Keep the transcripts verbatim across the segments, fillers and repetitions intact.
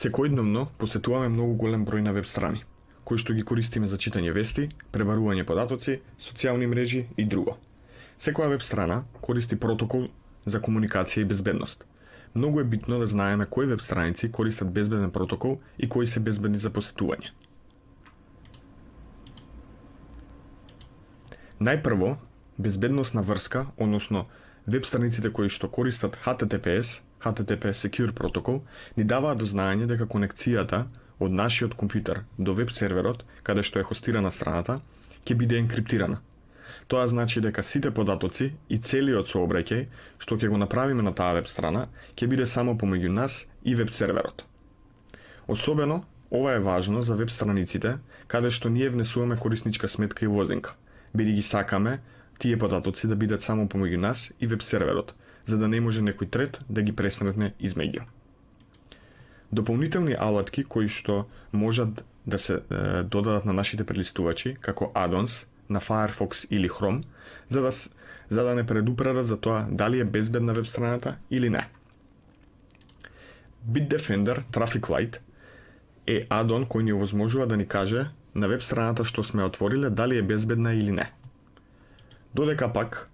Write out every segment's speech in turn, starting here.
Секојдневно посетуваме многу голем број на веб страни, кои што ги користиме за читање вести, пребарување податоци, социјални мрежи и друго. Секоја веб страна користи протокол за комуникација и безбедност. Многу е битно да знаеме кои веб страници користат безбеден протокол и кои се безбедни за посетување. Најпрво, безбедносна врска, односно веб страниците кои што користат H T T P S, H T T P S Secure протокол, ни даваат до знаење дека конекцијата од нашиот компјутер до веб серверот, каде што е хостирана страната, ќе биде енкриптирана. Тоа значи дека сите податоци и целиот сообраќај што ќе го направиме на таа веб страна, ќе биде само помеѓу нас и веб серверот. Особено, ова е важно за веб страниците, каде што ние внесуваме корисничка сметка и лозинка, бидејќи сакаме тие податоци да бидат само помеѓу нас и веб серверот, за да не може некој трет да ги пресретне измеѓу. Дополнителни алатки кои што можат да се е, додадат на нашите прелистувачи, како add-ons на Firefox или Chrome, за да, за да не предупредат за тоа дали е безбедна веб страната или не. Bitdefender Traffic Light е add-on кој ни овозможува да ни каже на веб страната што сме отвориле дали е безбедна или не. Додека пак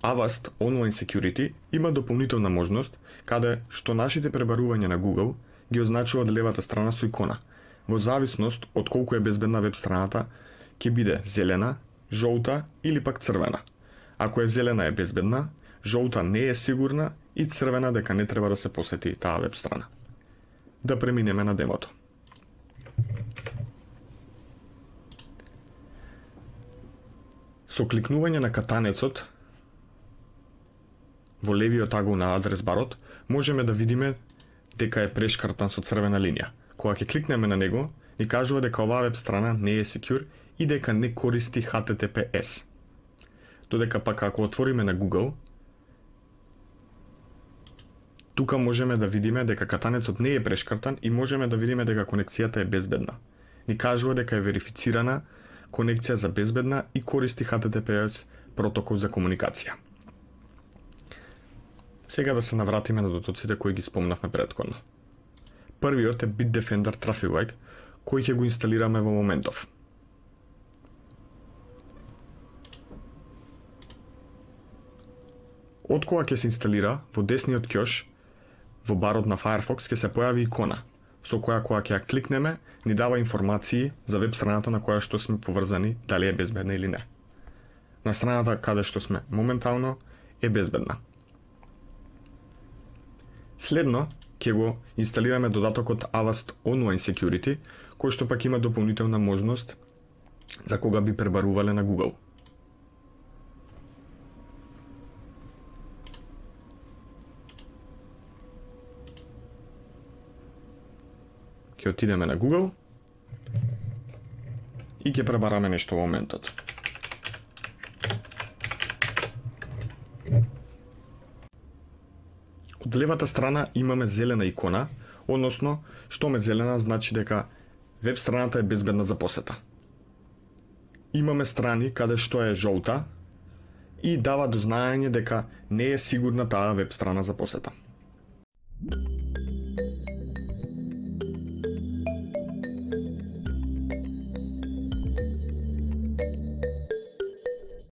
Avast Online Security има дополнителна можност каде што нашите пребарувања на Google ги означува од левата страна со икона. Во зависност од колку е безбедна веб страната, ќе биде зелена, жолта или пак црвена. Ако е зелена е безбедна, жолта не е сигурна и црвена дека не треба да се посети таа веб страна. Да преминеме на демото. Со кликнување на катанецот во левиот агол на адрес барот, можеме да видиме дека е прешкртан со црвена линија. Кога ќе кликнеме на него, ни кажува дека оваа веб страна не е secure и дека не користи H T T P S. Додека пак ако отвориме на Google, тука можеме да видиме дека катанецот не е прешкртан и можеме да видиме дека конекцијата е безбедна. Ни кажува дека е верифицирана конекција за безбедна и користи H T T P S протокол за комуникација. Сега да се навратиме на дотоците кои ги спомнавме претходно. Првиот е Bitdefender Traffic Light, кој ќе го инсталираме во моментов. Од кога ќе се инсталира, во десниот ќош, во барот на Firefox ќе се појави икона, со која кога ќе ја кликнеме, ни дава информации за веб страната на која што сме поврзани, дали е безбедна или не. На страната каде што сме моментално е безбедна. Следно, ќе го инсталираме додатокот Avast Online Security, кој што пак има дополнителна можност за кога би пребарувале на Google. Ќе отидеме на Google и ќе пребараме нешто во моментот. Од левата страна имаме зелена икона, односно, што ме зелена значи дека веб страната е безбедна за посета. Имаме страни каде што е жолта и дава до знаење дека не е сигурна таа веб страна за посета.